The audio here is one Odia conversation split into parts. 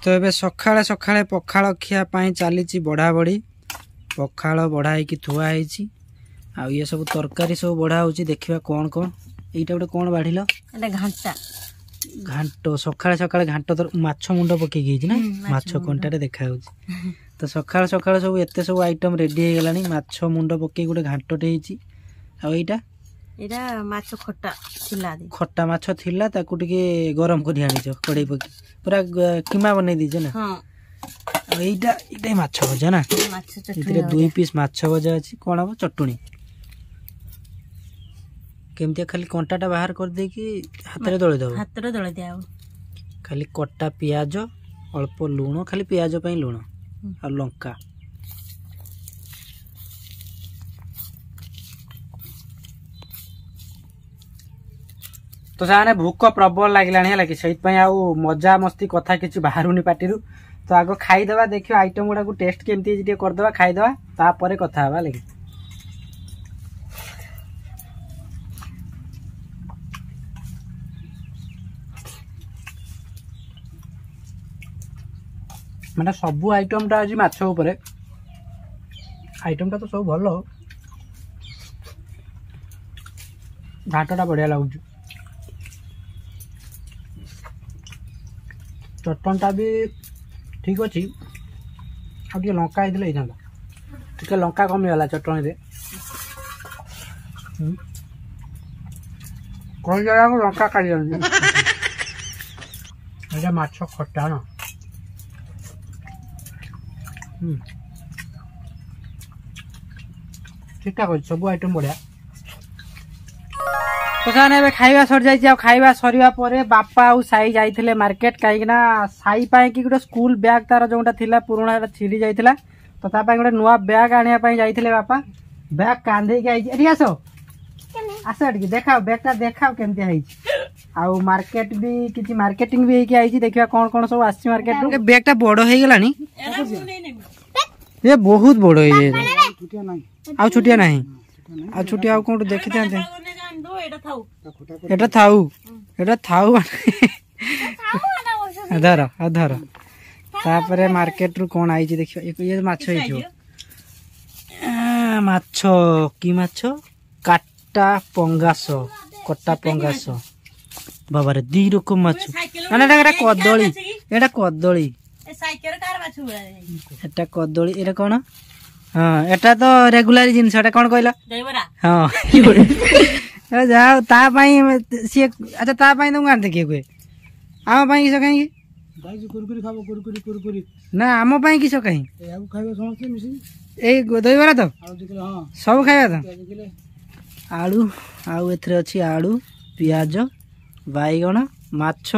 ତ ଏବେ ସକାଳେ ସକାଳେ ପଖାଳ ଖିଆ ପାଇଁ ଚାଲିଛି ବଢ଼ା ବଢ଼ି। ପଖାଳ ବଢ଼ା ହେଇକି ଥୁଆ ହେଇଛି, ଆଉ ଇଏ ସବୁ ତରକାରୀ ସବୁ ବଢ଼ା ହେଉଛି। ଦେଖିବା କ'ଣ କ'ଣ। ଏଇଟା ଗୋଟେ କ'ଣ ବାଢ଼ିଲ? ଏଟା ଘାଣ୍ଟା। ଘାଣ୍ଟ। ସକାଳେ ସକାଳେ ଘାଣ୍ଟ ତର ମାଛ ମୁଣ୍ଡ ପକେଇକି ହେଇଛି ନା? ମାଛ ମାଛ ମୁଣ୍ଡ। କଣ୍ଟାରେ ଦେଖାଯାଉଛି। ତ ସକାଳୁ ସକାଳୁ ସବୁ ଏତେ ସବୁ ଆଇଟମ୍ ରେଡି ହେଇଗଲାଣି। ମାଛ ମୁଣ୍ଡ ପକେଇ ଗୋଟେ ଘାଣ୍ଟଟେ ହେଇଛି। ଆଉ ଏଇଟା? ଏଇଟା ମାଛ ଖଟା ଥିଲା। ଖଟା ମାଛ ଥିଲା, ତାକୁ ଟିକେ ଗରମ କରି ଆଣିଛ, କଡ଼େଇ ପକେଇ ପୁରା କିମା ବନେଇ ଦେଇଛ ନା? ହଁ। ଆଉ ଏଇଟା ମାଛ ଭଜା ନା? ମାଛ ଚଟଣି। ଏଥିରେ ଦୁଇ ପିସ୍ ମାଛ ଭଜା ଅଛି। କ'ଣ ହବ? ଚଟୁଣି। କେମିତିଆ? ଖାଲି କଣ୍ଟାଟା ବାହାର କରିଦେଇକି ହାତରେ ଦଳିଦେବ? ହାତରେ ଦଳି ଦିଆ ହବ। ଖାଲି କଟା ପିଆଜ, ଅଳ୍ପ ଲୁଣ, ଖାଲି ପିଆଜ ପାଇଁ ଲୁଣ ଆଉ ଲଙ୍କା। ତ ସେମାନେ ଭୋକ ପ୍ରବଳ ଲାଗିଲାଣି, ହେଲା କି? ସେଇଥିପାଇଁ ଆଉ ମଜା ମସ୍ତି କଥା କିଛି ବାହାରୁନି ପାଟିରୁ। ତ ଆଗ ଖାଇଦେବା, ଦେଖିବା ଆଇଟମ୍ ଗୁଡ଼ାକୁ ଟେଷ୍ଟ କେମିତି ହେଇଛି, ଟିକେ କରିଦେବା, ଖାଇଦେବା, ତାପରେ କଥା ହେବା, ହେଲା କି? ମାନେ ସବୁ ଆଇଟମଟା ଆଜି ମାଛ ଉପରେ ଆଇଟମଟା ତ ସବୁ ଭଲ। ଘାଣ୍ଟଟା ବଢ଼ିଆ ଲାଗୁଛି, ଚଟଣିଟା ବି ଠିକ୍ ଅଛି। ଆଉ ଟିକେ ଲଙ୍କା ହେଇଥିଲେ ହେଇଥାନ୍ତା। ଟିକେ ଲଙ୍କା କମିଗଲା ଚଟଣିରେ। କୋଉ ଜାଗାକୁ ଲଙ୍କା କାଢି ଯାଉଛି। ଏଇଟା ମାଛ ଖଟା ନା? ହୁଁ, ଠିକ୍ ଠାକ୍ ଅଛି। ସବୁ ଆଇଟମ୍ ବଢ଼ିଆ। ତ ସେମାନେ ଏବେ ଖାଇବା ସରିଯାଇଛି। ଆଉ ଖାଇବା ସରିବା ପରେ ବାପା ଆଉ ସାଇ ଯାଇଥିଲେ ମାର୍କେଟ, କାହିଁକି ନା ସାଇ ପାଇଁ କି ଗୋଟେ ସ୍କୁଲ ବ୍ୟାଗ୍ ତାର ଯୋଉଟା ଥିଲା ପୁରୁଣା, ସେଟା ଛିଡ଼ି ଯାଇଥିଲା। ତ ତା ପାଇଁ ଗୋଟେ ନୂଆ ବ୍ୟାଗ୍ ଆଣିବା ପାଇଁ ଯାଇଥିଲେ ବାପା। ବ୍ୟାଗ୍ କାନ୍ଧେଇକି ଆଇଛି। ଏଠି ଆସ, ଆସ ଏଠିକି, ଦେଖାଅ ବ୍ୟାଗଟା, ଦେଖାଅ କେମିତି ହେଇଛି। ଆଉ ମାର୍କେଟ ବି କିଛି ମାର୍କେଟିଂ ବି ହେଇକି ଆଇଛି। ଦେଖିବା କ'ଣ କ'ଣ ସବୁ ଆସିଛି ମାର୍କେଟରୁ। ବ୍ୟାଗଟା ବଡ ହେଇଗଲାଣି, ଏ ବହୁତ ବଡ ହେଇଯାଇଛି। ଆଉ ଛୋଟିଆ ନାହିଁ? ଆଉ ଛୋଟିଆ ଆଉ କୋଉଠୁ ଦେଖିଥାନ୍ତେ। ଏଇଟା ଥାଉ। ଏଟା ଥାଉ, ଏଟା ଥାଉ, ଧର, ଆଉ ଧର। ତାପରେ ମାର୍କେଟରୁ କ'ଣ ଆଇଛି ଦେଖିବା। ଇଏ ମାଛ ହେଇଥିବ। ମାଛ କି ମାଛ? କାଟା ପଙ୍ଗାସ, କଟା ପଙ୍ଗାସ। ବାବାରେ, ଦି ରକମ ମାଛ। ନା ନା, ଏଟା କଦଳୀ, ଏଟା କଦଳୀ। ସାଇକେଲ କାହାର ମାଛ ଗୁଡା? ଏଟା କଦଳୀ। ଏଟା କ'ଣ? ହଁ, ଏଟା ତ ରେଗୁଲାର ଜିନିଷ। ଏଟା କ'ଣ କହିଲ? ଦହିବରା। ହଁ, ଏ ଯାହା ହଉ, ତା ପାଇଁ ସିଏ। ଆଚ୍ଛା, ତା ପାଇଁ ତମକୁ ଆଣିତେ କିଏ କୁହେ? ଆମ ପାଇଁ କିସ କାହିଁକି? କୁରକୁରି ଖାବ, କୁରକୁରି, କୁରକୁରି। ନା, ଆମ ପାଇଁ କିସ କାହିଁ? ଏହାକୁ ଖାଇବ ସମସ୍ତେ ମିଶିକି। ଏଇ ଦହିବରା ତ? ଆଳୁ 2 କିଲୋ, ହଁ। ସବୁ ଖାଇବା ତ? ପିଆଜ କିଲେ। ଆଳୁ, ଆଉ ଏଥିରେ ଅଛି ଆଳୁ, ପିଆଜ, ବାଇଗଣ, ମାଛ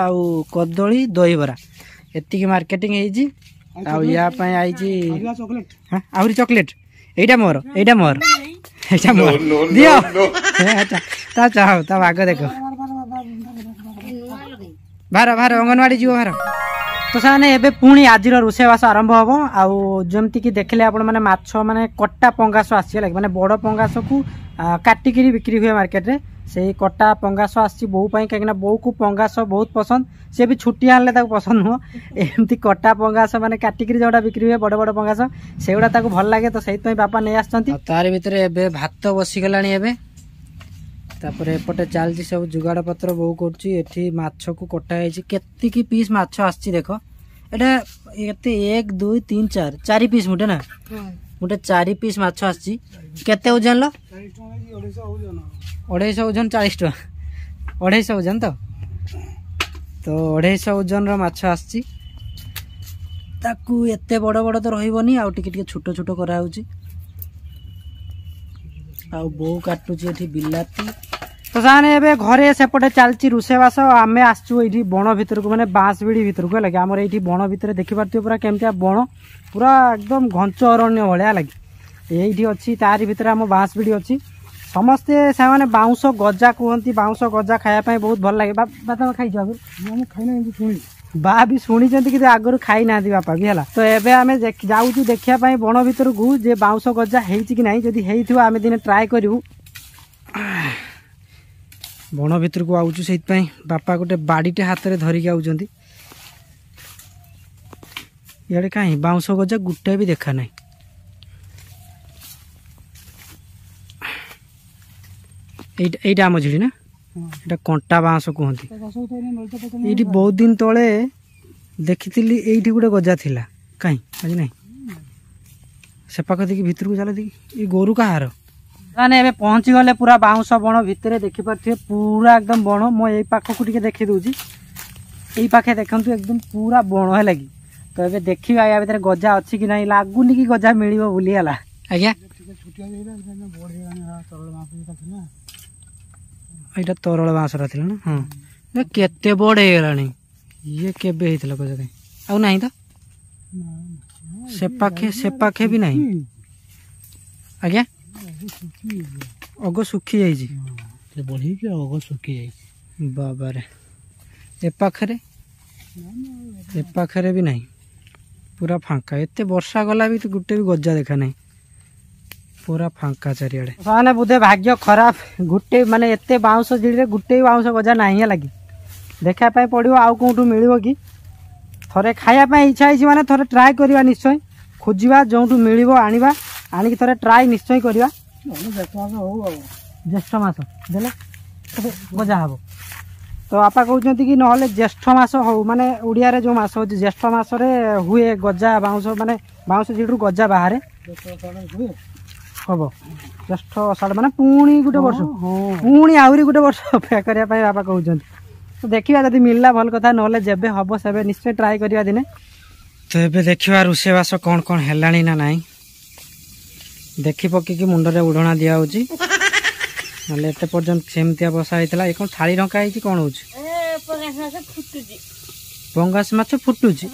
ଆଉ କଦଳୀ, ଦହିବରା। ଏତିକି ମାର୍କେଟିଂ ହେଇଛି। ଆଉ ୟା ପାଇଁ ଆଇଛି। ପରିବା, ଚକୋଲେଟ। ହଁ, ଆହୁରି ଚକୋଲେଟ। ଏଇଟା ମୋର, ଏଇଟା ମୋର, ଏଇଟା ମୋର, ଦିଅ। ଆଚ୍ଛା, ତା ଚାହ, ତା ଭାଗ ଦେଖ। ଭାର ଭାର, ଅଙ୍ଗନବାଡ଼ି ଯିବ, ଭାର। ତ ସେମାନେ ଏବେ ପୁଣି ଆଜିର ରୋଷେଇବାସ ଆରମ୍ଭ ହବ। ଆଉ ଯେମିତିକି ଦେଖିଲେ ଆପଣମାନେ, ମାଛ ମାନେ କଟା ପଙ୍ଗାସ ଆସିଛି, ହେଲା କି? ମାନେ ବଡ଼ ପଙ୍ଗାସକୁ କାଟିକିରି ବିକ୍ରି ହୁଏ ମାର୍କେଟରେ। ସେଇ କଟା ପଙ୍ଗାସ ଆସିଛି ବୋଉ ପାଇଁ, କାହିଁକିନା ବୋଉକୁ ପଙ୍ଗାସ ବହୁତ ପସନ୍ଦ। ସେ ବି ଛୁଟି ଆଣିଲେ ତାକୁ ପସନ୍ଦ ନୁହଁ। ଏମିତି କଟା ପଙ୍ଗାସ ମାନେ କାଟିକିରି ଯୋଉଟା ବିକ୍ରି ହୁଏ, ବଡ଼ ବଡ଼ ପଙ୍ଗାସ, ସେଗୁଡ଼ା ତାକୁ ଭଲ ଲାଗେ। ତ ସେଇଥିପାଇଁ ବାପା ନେଇ ଆସିଛନ୍ତି। ତାରି ଭିତରେ ଏବେ ଭାତ ବସିଗଲାଣି ଏବେ। ତାପରେ ଏପଟେ ଚାଲିଛି ସବୁ ଯୁଗାଡ଼ ପତ୍ର ବୋଉ କରୁଛି। ଏଠି ମାଛକୁ କଟା ହେଇଛି। କେତିକି ପିସ୍ ମାଛ ଆସିଛି ଦେଖ। ଏଟା କେତେ? ଏକ, ଦୁଇ, ତିନି, ଚାରି, ଚାରି ପିସ୍ ମୁଠେ ନା? ଗୋଟେ ଚାରି ପିସ୍ ମାଛ ଆସିଛି। କେତେ ଓଜନ ଲୋ? 40 ଟଙ୍କା କି 250 ଓଜନ। 250 ଓଜନ, 40 ଟଙ୍କା। 250 ଓଜନ ତ। ତ 250 ଓଜନର ମାଛ ଆସିଛି। ତାକୁ ଏତେ ବଡ଼ ବଡ଼ ତ ରହିବନି, ଆଉ ଟିକେ ଟିକେ ଛୋଟ ଛୋଟ କରାହେଉଛି। ଆଉ ବୋଉ କାଟୁଛି ଏଠି ବିଲାତି। ତ ସେମାନେ ଏବେ ଘରେ ସେପଟେ ଚାଲିଛି ରୋଷେଇବାସ। ଆମେ ଆସିଛୁ ଏଇଠି ବଣ ଭିତରକୁ, ମାନେ ବାଁଶ ବିଡ଼ି ଭିତରକୁ, ହେଲା କି? ଆମର ଏଇଠି ବଣ ଭିତରେ ଦେଖିପାରୁଥିବେ ପୁରା କେମିତିଆ ବଣ, ପୁରା ଏକଦମ ଘଞ୍ଚ ଅରଣ୍ୟ ଭଳିଆ, ହେଲା କି? ଏଇଠି ଅଛି, ତାରି ଭିତରେ ଆମ ବାଁଶ ବିଡ଼ି ଅଛି। ସମସ୍ତେ ସେମାନେ ବାଉଁଶ ଗଜା କୁହନ୍ତି। ବାଉଁଶ ଗଜା ଖାଇବା ପାଇଁ ବହୁତ ଭଲ ଲାଗେ। ବା ତମେ ଖାଇଛ ଆଗରୁ? ମୁଁ ଖାଇନା, ଏମିତି ଶୁଣିଛି। ବା ବି ଶୁଣିଛନ୍ତି, କିନ୍ତୁ ଆଗରୁ ଖାଇନାହାନ୍ତି ବାପା ବି, ହେଲା? ତ ଏବେ ଆମେ ଯାଉଛୁ ଦେଖିବା ପାଇଁ ବଣ ଭିତରକୁ ଯେ ବାଉଁଶ ଗଜା ହେଇଛି କି ନାହିଁ। ଯଦି ହେଇଥିବ ଆମେ ଦିନେ ଟ୍ରାଏ କରିବୁ। ବଣ ଭିତରକୁ ଆଉଛୁ, ସେଇଥିପାଇଁ ବାପା ଗୋଟେ ବାଡ଼ିଟେ ହାତରେ ଧରିକି ଆଉଛନ୍ତି। ଇଆଡ଼େ କାହିଁ ବାଉଁଶ ଗଜା ଗୋଟେ ବି ଦେଖା ନାହିଁ। ଏଇଟା ଏଇଟା ଆମ ଝିଡ଼ି ନା, ଏଇଟା କଣ୍ଟା ବାଉଁଶ କୁହନ୍ତି। ଏଇଠି ବହୁତ ଦିନ ତଳେ ଦେଖିଥିଲି, ଏଇଠି ଗୋଟେ ଗଜା ଥିଲା, କାହିଁ ଆଜି ନାହିଁ। ସେ ପାଖ ଦେଖି ଭିତରକୁ ଚାଲ ଦେଖି। ଏଇ ଗୋରୁ କାହାର? ମାନେ ଏବେ ପହଞ୍ଚି ଗଲେ ପୁରା ବାଉଁଶ ବଣ ଭିତରେ, ଦେଖିପାରୁଥିବେ ପୁରା ଏକଦମ ବଣ। ମୁଁ ଏଇ ପାଖକୁ ଟିକେ ଦେଖି ଦଉଛି, ଏଇ ପାଖେ ଦେଖନ୍ତୁ ଏକଦମ ପୁରା ବଣ ହେଲା କି। ତ ଏବେ ଦେଖିବା ୟା ଭିତରେ ଗଜା ଅଛି କି ନାହିଁ। ଲାଗୁନି କି ଗଜା ମିଳିବ ବୋଲି। ହେଲା ଆଜ୍ଞା, ଏଇଟା ତରଳ ବାଉଁଶଟା ଥିଲା ନା? ହଁ, କେତେ ବଡ଼ ହେଇଗଲାଣି ଇଏ। କେବେ ହେଇଥିଲା ଗଜା? କାହିଁ ଆଉ ନାହିଁ ତ। ସେ ପାଖେ, ସେ ପାଖେ ବି ନାହିଁ ଆଜ୍ଞା। ଅଗ ଶୁଖି ଯାଇଛି, ବଢିକି ଅଗ ଶୁଖି ଯାଇଛି। ବାବାରେ, ଏ ପାଖରେ, ଏ ପାଖରେ ବି ନାହିଁ, ପୁରା ଫାଙ୍କା। ଏତେ ବର୍ଷା ଗଲା ବି ଗୋଟେ ବି ଗଜା ଦେଖା ନାହିଁ, ପୁରା ଫାଙ୍କା ଚାରିଆଡ଼େ। ମାନେ ବୋଧେ ଭାଗ୍ୟ ଖରାପ, ଗୋଟେ ମାନେ ଏତେ ବାଉଁଶ ଝିଡ଼ିରେ ଗୋଟେ ବି ବାଉଁଶ ଗଜା ନାହିଁ। ହେଲା କି ଦେଖିବା ପାଇଁ ପଡ଼ିବ ଆଉ କେଉଁଠୁ ମିଳିବ କି। ଥରେ ଖାଇବା ପାଇଁ ଇଚ୍ଛା ହେଇଛି, ମାନେ ଥରେ ଟ୍ରାଏ କରିବା ନିଶ୍ଚୟ। ଖୋଜିବା, ଯେଉଁଠୁ ମିଳିବ ଆଣିବା, ଆଣିକି ଥରେ ଟ୍ରାଏ ନିଶ୍ଚୟ କରିବା। ଜ୍ୟେଷ୍ଠ ମାସ ଦେଲେ ଗଜା ହବ ତ ବାପା କହୁଛନ୍ତି କି, ନହେଲେ ଜ୍ୟେଷ୍ଠ ମାସ ହଉ, ମାନେ ଓଡ଼ିଆରେ ଯେଉଁ ମାସ ହେଉଛି ଜ୍ୟେଷ୍ଠ ମାସରେ ହୁଏ ଗଜା। ବାଉଁଶ ମାନେ ବାଉଁଶ ଝିଡ଼ିରୁ ଗଜା ବାହାରେ ହବ ଜ୍ୟେଷ୍ଠ ଅଷାଢ଼, ମାନେ ପୁଣି ଗୋଟେ ବର୍ଷ, ପୁଣି ଆହୁରି ଗୋଟେ ବର୍ଷ ଅପେକ୍ଷା କରିବା ପାଇଁ ବାପା କହୁଛନ୍ତି। ତ ଦେଖିବା, ଯଦି ମିଳିଲା ଭଲ କଥା, ନହେଲେ ଯେବେ ହବ ସେବେ ନିଶ୍ଚୟ ଟ୍ରାଏ କରିବା ଦିନେ। ତ ଏବେ ଦେଖିବା ରୋଷେଇବାସ କ'ଣ କ'ଣ ହେଲାଣି ନା ନାହିଁ। ଦେଖି ପକେଇକି ମୁଣ୍ଡରେ ଉଢ଼ଣା ଦିଆହେଉଛି, ନହେଲେ ଏତେ ପର୍ଯ୍ୟନ୍ତ ସେମିତିଆ ବସା ହେଇଥିଲା। ଏ କ'ଣ ଥାଳି ଢଙ୍କା ହେଇଛି? କ'ଣ ହଉଛି? ପଙ୍ଗାସ ମାଛ ଫୁଟୁଛି।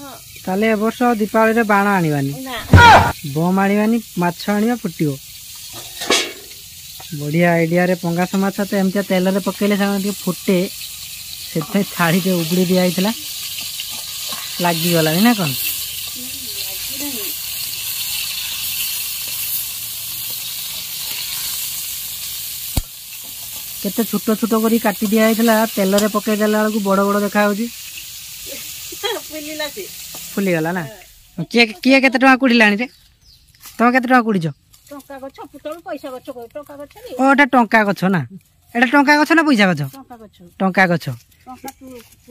ତାହେଲେ ଏ ବର୍ଷ ଦୀପାବଳିରେ ବାଣ ଆଣିବାନି, ବମ୍ ଆଣିବାନି, ମାଛ ଆଣିବା, ଫୁଟିବ। ବଢ଼ିଆ ଆଇଡ଼ିଆରେ। ପଙ୍ଗାସ ମାଛ ତ ଏମିତିଆ ତେଲରେ ପକେଇଲେ ସେମାନେ ଟିକେ ଫୁଟେ, ସେଥିପାଇଁ ଥାଳିଟେ ଉଗୁଡ଼ି ଦିଆହେଇଥିଲା। ଲାଗିଗଲାଣି ନା କ'ଣ? କେତେ ଛୋଟ ଛୋଟ କରି କାଟି ଦିଆ ହେଇଥିଲା, ତେଲରେ ପକେଇ ଦେଲା ବେଳକୁ ବଡ଼ ବଡ଼ ଦେଖାଯାଉଛି। ଫୁଲିଗଲା ନା? କିଏ କିଏ କେତେ ଟଙ୍କା କୁଡ଼ିଲାଣି ରେ? ତମେ କେତେ ଟଙ୍କା କୁଡ଼ିଛ? ଓ, ଏଟା ଟଙ୍କା ଗଛ ନା? ଏଟା ଟଙ୍କା ଗଛ ନା ପଇସା ଗଛ? ଟଙ୍କା ଗଛ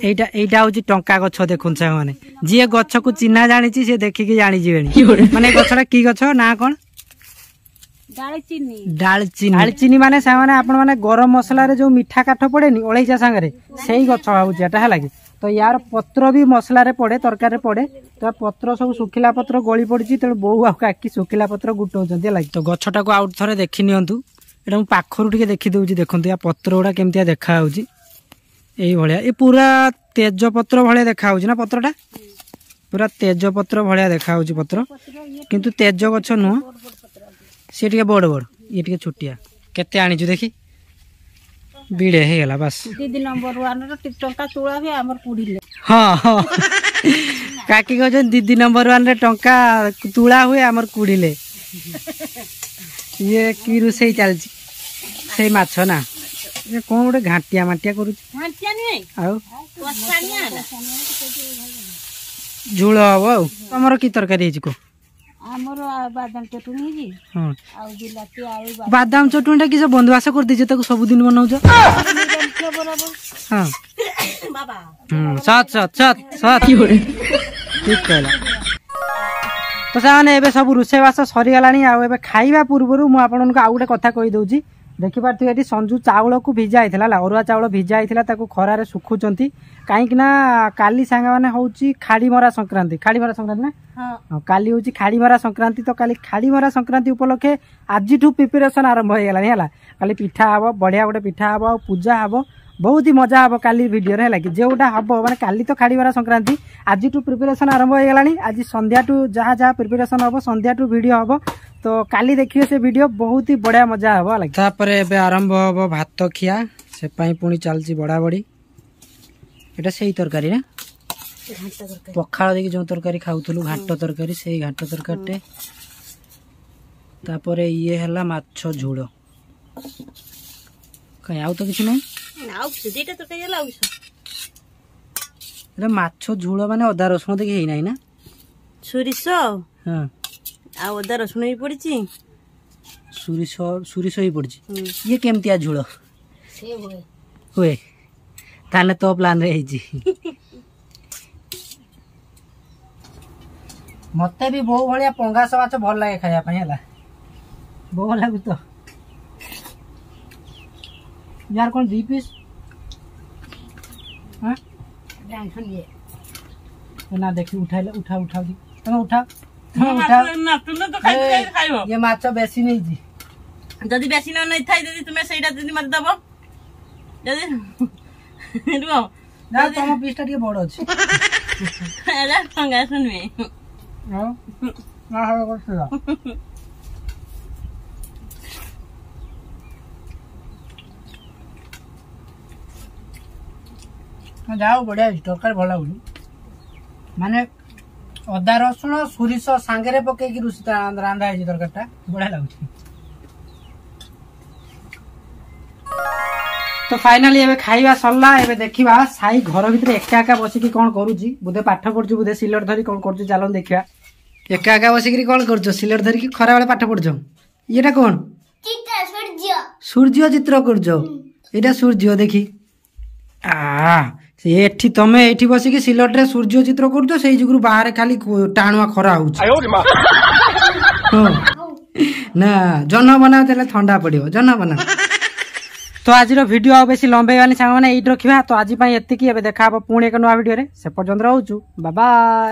ଏଇଟା, ଏଇଟା ହଉଛି ଟଙ୍କା ଗଛ। ଦେଖୁন ସାଙ୍ଗମାନେ, ଯିଏ ଗଛକୁ ଚିହ୍ନା ଜାଣିଛି ସେ ଦେଖିକି ଜାଣିଯିବେଣି। ମାନେ ଗଛଟା କି ଗଛ ନା କଣ? ଡାଳଚିନି। ଡାଳଚିନି ମାନେ ସେମାନେ ଆପଣ ମାନେ ଗରମ ମସଲାରେ ଯୋଉ ମିଠା କାଠ ପଡେନି ଅଳେଇଚା ସାଙ୍ଗରେ, ସେଇ ଗଛ ଭାବୁଛି ଏଟା। ହେଲା କି ତ ୟାର ପତ୍ର ବି ମସଲାରେ ପଡେ, ତରକାରୀରେ ପଡେ। ତ ପତ୍ର ସବୁ ଶୁଖିଲା ପତ୍ର ଗଳି ପଡିଛି, ତେଣୁ ବୋଉ ଆଉ କାକି ଶୁଖିଲା ପତ୍ର ଗୁଟଉଛନ୍ତି। ହେଲା କି ତ ଗଛଟାକୁ ଆଉ ଥରେ ଦେଖି ନିଅନ୍ତୁ। ଏଇଟା ମୁଁ ପାଖରୁ ଟିକେ ଦେଖିଦେଉଛି। ଦେଖନ୍ତୁ ୟା ପତ୍ର ଗୁଡ଼ା କେମିତିଆ ଦେଖାଯାଉଛି, ଏଇଭଳିଆ। ଏ ପୁରା ତେଜପତ୍ର ଭଳିଆ ଦେଖାଯାଉଛି ନା? ପତ୍ରଟା ପୁରା ତେଜପତ୍ର ଭଳିଆ ଦେଖାଯାଉଛି ପତ୍ର, କିନ୍ତୁ ତେଜ ଗଛ ନୁହଁ। ସିଏ ଟିକେ ବଡ଼ ବଡ଼, ଇଏ ଟିକେ ଛୋଟିଆ। କେତେ ଆଣିଛୁ ଦେଖି? ବିଡ଼େ ହେଇଗଲା ବାସ୍। ଦିଦି ନମ୍ବର ୱାନ୍ର ଟଙ୍କା ତୁଳା ହୁଏ ଆମର କୁଡ଼ିଲେ। ହଁ ହଁ, କାକି କହୁଛନ୍ତି ଦିଦି ନମ୍ବର ୱାନ୍ରେ ଟଙ୍କା ତୁଳା ହୁଏ ଆମର କୁଡ଼ିଲେ। ଇଏ କି ରୋଷେଇ ଚାଲିଛି? ସେଇ ମାଛ ନା ଇଏ କ'ଣ ଗୋଟେ ଘାଣ୍ଟିଆ ମାଣ୍ଟିଆ କରୁଛି? ଆଉ ଝୋଳ ହବ। ଆଉ ତମର କି ତରକାରୀ ହେଇଛି କୁହ? ଆମର ବାଦାମ ଚଟୁଣି ହେଇଛି ଆଉ ବିଲାତି ଆଳୁ। ବାଦାମ ଚଟୁଣିଟା କି ବନ୍ଧୁବାସ କରିଦେଇଛ ତାକୁ ସବୁଦିନ ବନଉଛ? ହଁ, ସତ୍ ସତ୍ ସତ୍ ସତ୍, ଠିକ କହିଲା। ତ ସେମାନେ ଏବେ ସବୁ ରୋଷେଇବାସ ସରିଗଲାଣି, ଆଉ ଏବେ ଖାଇବା ପୂର୍ବରୁ ମୁଁ ଆପଣଙ୍କୁ ଆଉ ଗୋଟେ କଥା କହିଦେଉଛି। ଦେଖିପାରୁଥିବେ ଏଠି ସଞ୍ଜୁ ଚାଉଳକୁ ଭିଜା ହେଇଥିଲା, ହେଲା ଅରୁଆ ଚାଉଳ ଭିଜା ହେଇଥିଲା, ତାକୁ ଖରାରେ ଶୁଖୁଛନ୍ତି। କାହିଁକି ନା କାଲି ସାଙ୍ଗମାନେ ହେଉଛି ଖାଡ଼ିମରା ସଂକ୍ରାନ୍ତି। ଖାଡ଼ିମରା ସଂକ୍ରାନ୍ତି ନା? କାଲି ହେଉଛି ଖାଡ଼ିମରା ସଂକ୍ରାନ୍ତି। ତ କାଲି ଖାଡ଼ିମରା ସଂକ୍ରାନ୍ତି ଉପଲକ୍ଷେ ଆଜିଠୁ ପ୍ରିପାରେସନ୍ ଆରମ୍ଭ ହେଇଗଲାଣି। ହେଲା କାଲି ପିଠା ହବ, ବଢ଼ିଆ ଗୋଟେ ପିଠା ହବ, ଆଉ ପୂଜା ହବ, ବହୁତ ହି ମଜା ହବ କାଲି ଭିଡ଼ିଓରେ। ହେଲା କି ଯେଉଁଟା ହବ, ମାନେ କାଲି ତ ଖାଡ଼ିମରା ସଂକ୍ରାନ୍ତି, ଆଜିଠୁ ପ୍ରିପାରେସନ୍ ଆରମ୍ଭ ହେଇଗଲାଣି। ଆଜି ସନ୍ଧ୍ୟାଠୁ ଯାହା ଯାହା ପ୍ରିପାରେସନ୍ ହବ, ସନ୍ଧ୍ୟାଠୁ ଭିଡ଼ିଓ ହବ। ତ କାଲି ଦେଖିବେ ସେ ଭିଡ଼ିଓ, ବହୁତ ହି ବଢ଼ିଆ ମଜା ହବ। ହେଲା ତାପରେ ଏବେ ଆରମ୍ଭ ହବ ଭାତ ଖିଆ, ସେ ପାଇଁ ପୁଣି ଚାଲିଛି ବଢ଼ାବଢ଼ି। ଏଇଟା ସେଇ ତରକାରୀ ନା ପଖାଳ ଦେଇକି ଯେଉଁ ତରକାରୀ ଖାଉଥିଲୁ, ଘାଣ୍ଟ ତରକାରୀ, ସେଇ ଘାଣ୍ଟ ତରକାରୀଟେ। ତାପରେ ଇଏ ହେଲା ମାଛ ଝୋଳ। କାଇଁ ଆଉ ତ କିଛି ନାହିଁ? ଏଟା ମାଛ ଝୋଳ ମାନେ ଅଦା ରସୁଣ ଦେଇକି ହେଇନାହିଁ ନା? ସୋରିଷ ଆଉ ଅଦା ରସୁଣ ବି ପଡିଛି। ସୋରିଷ, ସୋରିଷ ବି ପଡିଛି। ଇଏ କେମିତିଆ ଝୋଳ ହୁଏ? ତାହେଲେ ତୋ ପ୍ଲାନରେ ହେଇଛି। ମତେ ବି ବୋଉ ଭଳିଆ ପଙ୍ଗାସ ମାଛ ଭଲ ଲାଗେ ଖାଇବା ପାଇଁ। ହେଲା ବୋଉ ଲାଗୁଛି ତ यार। କଣ 2 ପିସ୍ ନା? ଦେଖି ଉଠାଇଲେ, ଉଠା ଉଠା, ତମେ ଉଠା, ତମେ ଉଠା। ଇଏ ମାଛ ବେଶୀ ନେଇଛି। ଯଦି ବେଶୀ ନ ନେଇଥାଏ, ଯଦି ତୁମେ ସେଇଟା ଯଦି ମତେ ଦବ, ଯଦି ରୁହ ନା, ତମ ପିସ୍ ଟା ଟିକେ ବଡ ଅଛି। ଏଟା ପଙ୍ଗାସ ନୁହେଁ। ନା, ହବ। ଯାଉ, ବଢିଆ ହେଇଛି ତରକାରୀ, ଭଲ ଲାଗୁଛି। ମାନେ ଅଦା ରସୁଣ ସୋରିଷ ସାଙ୍ଗରେ ପକେଇକି ରୋଷେଇ ରାନ୍ଧା ହେଇଛି ତରକାରୀଟା, ବଢିଆ ଲାଗୁଛି। ତ ଫାଇନାଲି ଏବେ ଖାଇବା ସରିଲା। ଏବେ ଦେଖିବା ସାଇ ଘର ଭିତରେ ଏକା ଏକା ବସିକି କଣ କରୁଛି। ବୋଧେ ପାଠ ପଢୁଛି, ବୋଧେ ସିଲଟ ଧରି କଣ କରୁଛି। ଚାଲନ୍ତୁ ଦେଖିବା। ଏକା ଏକା ବସିକିରି କଣ କରୁଛ ସିଲଟ ଧରିକି? ଖରାବେଳେ ପାଠ ପଢୁଛ? ଇଏଟା କଣ? ସୂର୍ଯ୍ୟ ଚିତ୍ର କରୁଛ? ଏଇଟା ସୂର୍ଯ୍ୟ ଦେଖି। ଆ ଏଠି ତମେ ଏଇଠି ବସିକି ସିଲଟରେ ସୂର୍ଯ୍ୟ ଚିତ୍ର କରୁଛ, ସେଇ ଯୋଗୁରୁ ବାହାରେ ଖାଲି ଟାଣୁଆ ଖରା ହଉଛି। ହଁ ନା, ଜହ୍ନ ବନାଅ, ତାହେଲେ ଥଣ୍ଡା ପଡିବ। ଜହ୍ନ ବନାଅ। ତ ଆଜିର ଭିଡ଼ିଓ ଆଉ ବେଶୀ ଲମ୍ବେଇବାନି ସାଙ୍ଗମାନେ, ଏଇଠି ରଖିବା। ତ ଆଜି ପାଇଁ ଏତିକି। ଏବେ ଦେଖା ହବ ପୁଣି ଏକ ନୂଆ ଭିଡ଼ିଓରେ, ସେ ପର୍ଯ୍ୟନ୍ତ ରହୁଛୁ, ବାବାଇ।